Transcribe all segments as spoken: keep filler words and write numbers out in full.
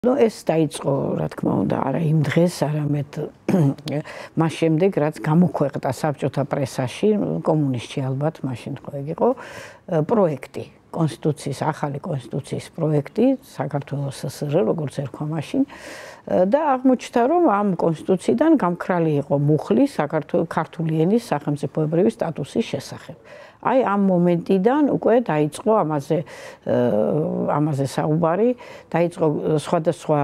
Ну, ეს დაიწყო, რა თქმა უნდა, არა იმ დღეს, არამედ მას შემდეგ, რაც გამოქვეყნდა საბჭოთა პრესაში, კომუნისტში ალბათ, მაშინ ხო ეგ იყო, პროექტი, კონსტიტუციის, ახალი კონსტიტუციის პროექტი, საქართველოს სსრ, როგორც ერქვა მაშინ, და აღმოჩნდა, რომ ამ კონსტიტუციიდან გამქრალი იყო მუხლი საქართველოს ქართული ენის სახელმწიფოებრივი სტატუსის შესახებ. Ai am მომენტიდან უკვე დაიწყო ამაზე ამაზე საუბარი, დაიწყო სხვადასხვა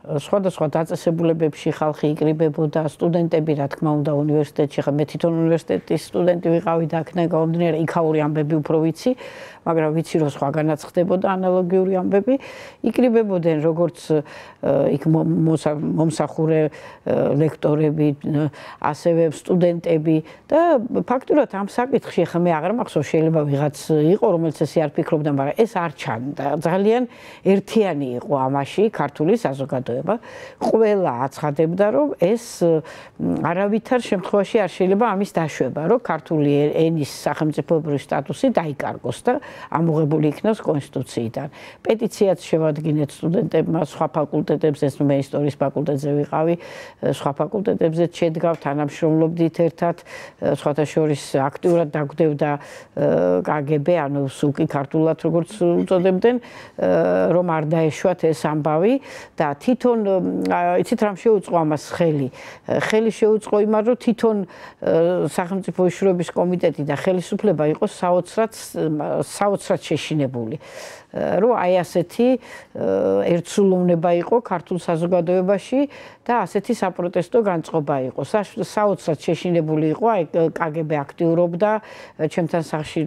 სხვადასხვა დაწესებულებებში ხალხი იკრიბებოდა, სტუდენტები, რა თქმა უნდა, უნივერსიტეტში, ხა მე თვითონ უნივერსიტეტის სტუდენტი ვიყავი და აქედან გამომდინარე, იქაური ამბები უფრო ვიცი, მაგრამ ვიცი, რომ სხვაგანაც ხდებოდა ანალოგიური ამბები, იკრიბებოდნენ როგორც იქ მომსახურე ლექტორები, ასევე სტუდენტები და ფაქტურად ამ საკითხში ხა მე აღარ მახსოვს, შეიძლება ვიღაც იყო, რომელიც ესე არ ფიქრობდა, მაგრამ ეს არ ჩანდა. ძალიან ერთიანი იყო ამაში ქართული საზოგადოება. ყველა აცხადებდა, რომ ეს არავითარ შემთხვევაში არ შეიძლება ამის დაშვება, რომ ქართული ენის სახელმწიფოებრივი სტატუსი დაიკარგოს და ამოღებული იქნას კონსტიტუციიდან. პეტიციაც შევადგინეთ სტუდენტებმა სხვა ფაკულტეტებზე, ეს მე ისტორიის ფაკულტეტზე ვიყავი, სხვა ფაკულტეტებზე შედგავ, თანამშრომლობდით ერთად, სხვათა შორის აქტიურად დაგვდევდა კგბ, ანუ სუკი ქართულად როგორც უწოდებდნენ, რომ არ დაეშვათ ეს ამბავი და თვითონ იცით რამ შეუწყო ამას ხელი. ხელი შეუწყო იმას, რომ თვითონ სახელმწიფო უშუალობის კომიტეტი და ხელისუფლება იყოს საოცრად საოცრად შეშინებული. რომ აი ასეთი ერთსულოვნება იყო ქართულ საზოგადოებაში და ასეთი საპროტესტო განწყობა იყო. საოცრად შეშინებული იყო, აი კგბ აქტიურობდა, ჩემთან სახლში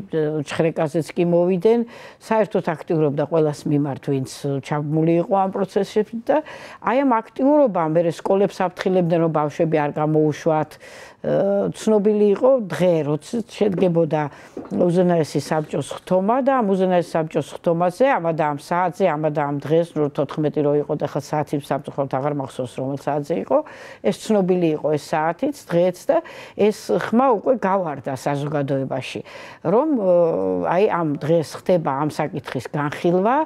ჩხრეკაზეც კი მოვიდნენ, საერთოდ აქტიურობდა ყველას მიმართ, ვინც ჩაბმული იყო ამ პროცესში და აი ამ აქტიურობამ მე სკოლებს აფრთხილებდნენ, რომ ბავშვები არ გამოუშვათ. ცნობილი იყო დღე, როცა შედგებოდა უზენაესი საბჭოს ხთომა და ამ უზენაეს საბჭოს ხთომაზე, ამა და ამ საათზე, ამა და ამ დღეს, ნუ თოთხმეტი რო იყო და ხა საათი სამწუხაროდ აღარ მახსოვს რომელ საათზე იყო, ეს ცნობილი იყო ეს საათიც, დღეც და ეს ხმა უკვე გავარდა საზოგადოებაში, რომ აი ამ დღეს ხდება ამ საკითხის განხილვა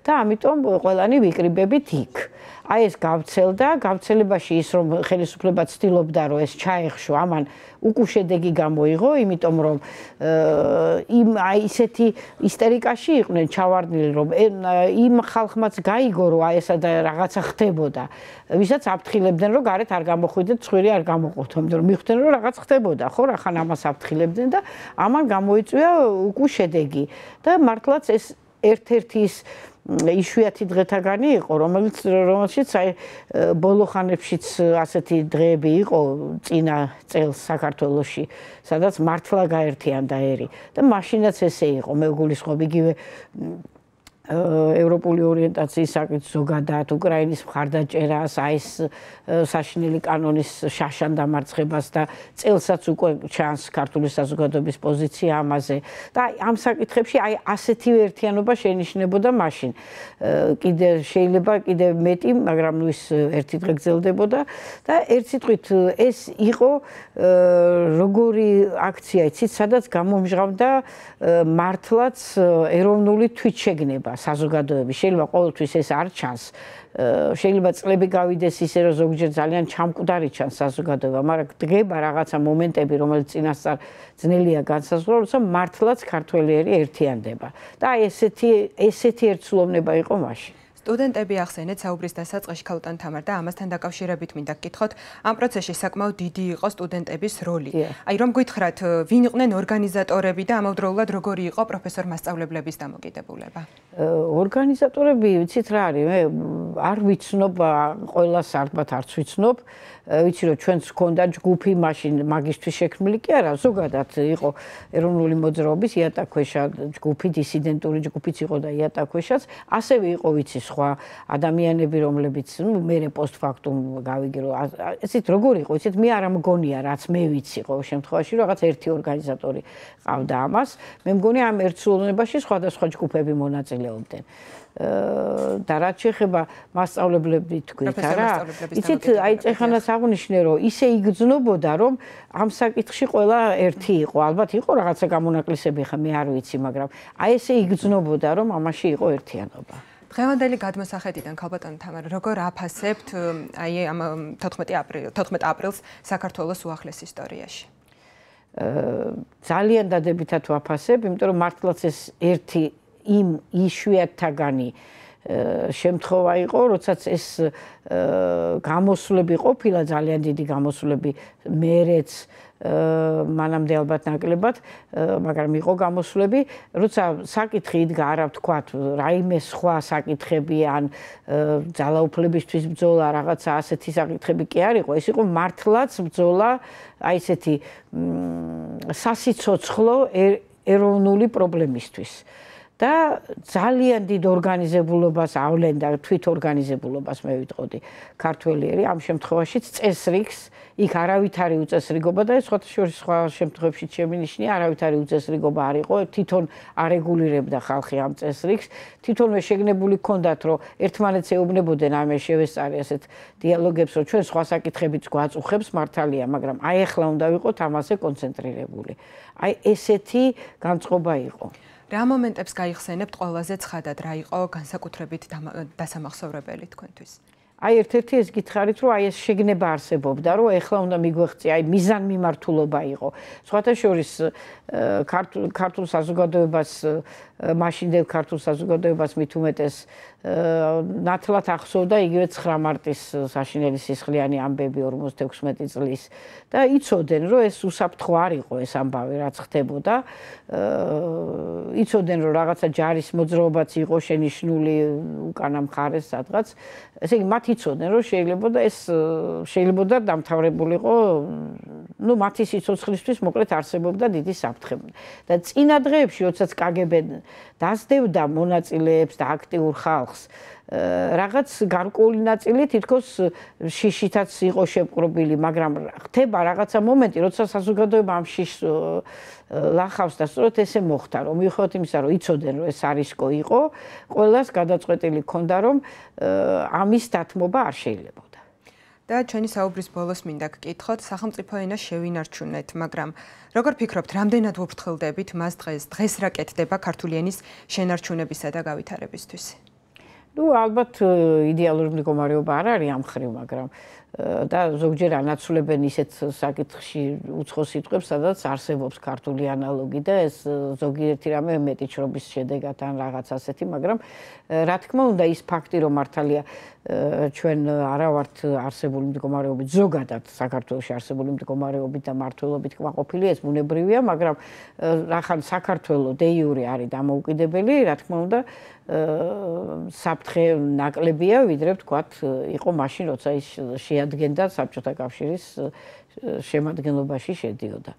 და ამიტომ ყველანი ვიკრიბებით იქ. Ai ეს გავცელდა, გავცელებაში ის რომ ხელისუფლება ცდილობდა რომ ეს ჩაეხშო, ამან უკუშედეგი გამოიღო, იმიტომ რომ იმ აი ისეთი ისტერიკაში იყვნენ ჩავარდნილი, რომ იმ ხალხმაც გაიგო რომ აი ესა და რაღაცა ხდებოდა. ვისაც აფრთხილებდნენ რომ გარეთ არ გამოხვიდეთ, ცხვირი არ გამოყოთ, იმიტომ რომ მიხვდნენ რომ რაღაც ხდებოდა, ხო, რახან ამას აფრთხილებდნენ და ამან გამოიწვია უკუშედეგი და მართლაც ეს ერთ-ერთი ის იშვიათი დღეთაგანი იყო, რომელიც რომელშიც აი ბოლო ხანებშიც ასეთი დღეები იყო წინა წელს საქართველოში, სადაც მართლა გაერთიანდა ერი და მაშინაც ესე იყო, მე გულისხმობ იგივე ევროპული ორიენტაციის საკითხს ზოგადად, უკრაინის მხარდაჭერას, აი ეს საშინელი კანონის შაშან დამარცხებას და წელსაც უკვე ჩანს ქართული საზოგადოების პოზიცია ამაზე. და ამ საკითხებში აი ასეთივე ერთიანობა შეინიშნებოდა მაშინ. კიდე შეიძლება კიდე მეტი, მაგრამ ნუ ის ერთი დღე გრძელდებოდა და ერთ სიტყვით ეს იყო როგორი აქცია, იცით, სადაც გამომჟღავდა მართლაც ეროვნული თვითშეგნება საზოგადოების. შეიძლება ყოველთვის ეს არ ჩანს. შეიძლება წლები გავიდეს ისე რომ ზოგჯერ ძალიან ჩამკვდარი ჩანს საზოგადოება, მაგრამ დგება რაღაცა მომენტები, რომელიც წინასწარ ძნელია განსაზღვრა, როცა მართლაც ქართველიერი ერთიანდება. და აი ესეთი ესეთი ერთსულოვნება იყო მაშინ. სტუდენტები ახსენეთ საუბრის დასაწყისში ქალთან თამარ და ამასთან დაკავშირებით მინდა გკითხოთ, ამ პროცესში საკმაოდ დიდი იყო სტუდენტების როლი. აი რომ გითხრათ, ვინ იყვნენ ორგანიზატორები და ამავდროულად როგორი იყო პროფესორ მასწავლებლების დამოკიდებულება? ორგანიზატორები, ვიცით რა არის, მე არ ვიცნობ, ყველას ალბათ არც ვიცნობ. ვიცი რომ ჩვენც ჰქონდა ჯგუფი მაშინ მაგისტრის შექმნილი კი არა, ზოგადად იყო ეროვნული მოძრაობის იატაკქვეშა ჯგუფი, დისიდენტური ჯგუფიც იყო და იატაკქვეშაც, ასევე იყო ვიცი სხვა ადამიანები, რომლებიც ნუ მერე პოსტფაქტუმ გავიგე რომ ესეთ როგორ იყო, იცით, მე არ მგონია რაც მე ვიცი ყოველ შემთხვევაში რაღაც ერთი ორგანიზატორი ყავდა ამას, მე მგონი ამ ერთსულოვნებაში სხვადასხვა ჯგუფები მონაწილეობდნენ. და რაც შეეხება მასწავლებლები თქვით არა, იცით, აი წეხანაც აღნიშნე რომ ისე იგრძნობოდა რომ ამ საკითხში ყველა ერთი იყო, ალბათ იყო რაღაცა გამონაკლისები, ხა მე არ ვიცი, მაგრამ აი ესე იგრძნობოდა რომ ამაში იყო ერთიანობა. დღევანდელი გადმოსახედიდან ქალბატონო თამარა, როგორ აფასებთ აი ამ თოთხმეტი აპრილს საქართველოს უახლეს ისტორიაში? ძალიან დადებითად ვაფასებ, იმიტომ რომ მართლაც ეს ერთი იმ იშვიათთაგანი შემთხვევა იყო, როდესაც ეს გამოსვლები ყოფილა ძალიან დიდი გამოსვლები მერეც მანამდე ალბათ ნაკლებად, მაგრამ იყო გამოსვლები, როცა საკითხი იდგა არა ვთქვათ, რაიმე სხვა საკითხები ან ძალაუფლებისთვის ბრძოლა, რაღაცა ასეთი საკითხები კი არ იყო, ეს იყო მართლაც ბრძოლა, აი ესეთი სასიცოცხლო ეროვნული პრობლემისთვის. და ძალიან დიდ ორგანიზებულობას ავლენ და თვითორგანიზებულობას მე ვიტყოდი ქართველიერი ამ შემთხვევაშიც წესრიგს იქ არავითარი უწესრიგობა და ეს სხვათაშორის სხვა შემთხვევებში შემინიშნია არავითარი უწესრიგობა არ იყო თვითონ არეგულირებდა ხალხი ამ წესრიგს თვითონვე შეგნებული ჰქონდათ რომ ერთმანეთს ეუბნებოდნენ ამე შევესწარი ასეთ დიალოგებს რომ ჩვენ სხვა საკითხებიც გვაწუხებს მართალია მაგრამ აი ახლა უნდა ვიყოთ ამაზე კონცენტრირებული აი ესეთი განწყობა იყო რა მომენტებს გაიხსენებთ ყველაზე ცხადად რა იყო განსაკუთრებით დასამახსოვრებელი თქვენთვის? აი ერთ-ერთი ეს გითხარით რომ აი ეს შეგნება არსებობდა რომ ეხლა უნდა მიგვეღწია აი მიზანმიმართულობა იყო. სხვათა შორის ქართულ საზოგადოებას მაშინდელ ქართულ საზოგადოებას მით უმეტეს ნათლად ახსოვდა იგივე ცხრა მარტის საშინელი სისხლიანი ამბები ორმოცდაექვსმეტი წლის და იცოდნენ რომ ეს უსაფრთხო არ იყო ეს ამბავი რაც ხდებოდა იცოდნენ რომ რაღაცა ჯარის მოძრაობაც იყო შენიშნული უკანა მხარეს სადღაც ესე იგი მათ იცოდნენ რომ შეიძლება და ეს შეიძლება დამთავრებულიყო ну მათი სიცოცხლისთვის მოკლედ არსებობდა დიდი საფრთხე და წინა დღეებში როდესაც კგბ დასდევდა მონაწილეებს და აქტიურ ხალხს რაღაც გარკვეული ნაწილი თითქოს შიშითაც იყო შეპყრობილი მაგრამ ხდება რაღაცა მომენტი როცა საზოგადოება ამ შიშს ლახავს და სწორედ ესე მოხდა რომ მიუხედავად იმისა რომ იცოდნენ რომ ეს არისკო იყო ყველას გადაწყვეტილი ჰქონდა რომ ამის დათმობა არ შეიძლება და ჩვენი საუბრის ბოლოს მინდა გკითხოთ სახელმწიფო ენას შევინარჩუნეთ მაგრამ როგორ ფიქრობთ რამდენად ვუფრთხილდებით მას დღეს დღეს რა კეთდება ქართული ენის შენარჩუნებისა და გავითარებისთვის ну ალბათ იდეალური მდგომარეობა არ არის ამ ხრივ მაგრამ და ზოგჯერ ანაცვლებენ ისეთ საკითხში უცხო სიტყვებს სადაც არსებობს ქართული ანალოგი და ეს ზოგიერთი რამე მეტი ჩრობის შედეგად ან რაღაც ასეთი მაგრამ რა თქმა უნდა ის ფაქტი რომ მართალია ჩვენ არა ვართ არსებული მდგომარეობით ზოგადად საქართველოში არსებული მდგომარეობით და მართლობით კმაყოფილი ეს ბუნებრივია მაგრამ რახან საქართველო დე იურე არის დამოუკიდებელი რა თქმა უნდა საფრთხე ნაკლებია ვიდრე ვთქვათ იყო მაშინ როცა ის შეადგენდა საბჭოთა კავშირის შემადგენლობაში შედიოდა